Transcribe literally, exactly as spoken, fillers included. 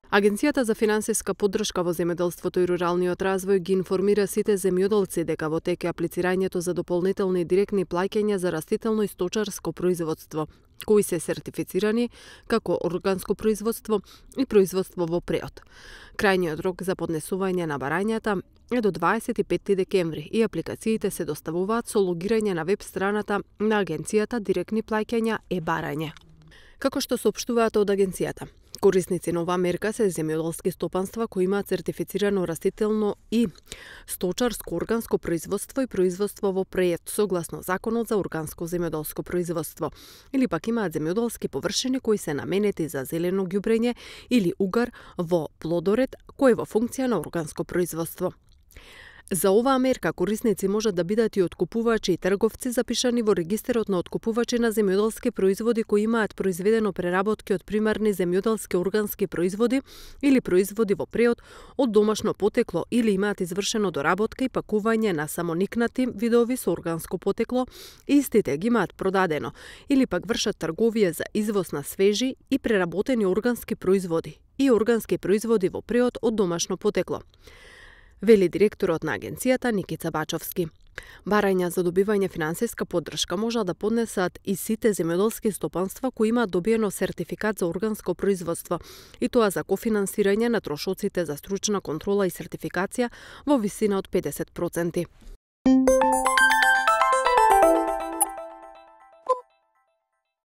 Агенцијата за финансиска поддршка во земјоделството и руралниот развој ги информира сите земјоделци дека во тек е аплицирањето за дополнителни директни плаќања за растително и сточарско производство, кои се сертифицирани како органско производство и производство во преод. Крајниот рок за поднесување на барањата е до дваесет и петти декември и апликациите се доставуваат со логирање на веб страната на Агенцијата Директни плаќања е-барање. Како што соопштуваат од агенцијата, корисници на оваа мерка се земјоделски стопанства кои имаат сертифицирано растително и сточарско органско производство и производство во преед согласно Законот за органско земјоделско производство, или пак имаат земјоделски површини кои се наменети за зелено ѓубрење или угар во плодоред кој е во функција на органско производство. За оваа мерка корисници можат да бидат и откупувачи и трговци запишани во регистерот на откупувачи на земјоделски производи кои имаат произведено преработки од примарни земјоделски органски производи или производи во преод од домашно потекло или имаат извршено доработка и пакување на самоникнати видови со органско потекло и истите ги имаат продадено или пак вршат трговија за извоз на свежи и преработени органски производи и органски производи во преод од домашно потекло, вели директорот на агенцијата Никица Бачовски. Барања за добивање финансиска поддршка можат да поднесат и сите земјоделски стопанства кои имаат добиено сертификат за органско производство, и тоа за кофинансирање на трошоците за стручна контрола и сертификација во висина од педесет проценти.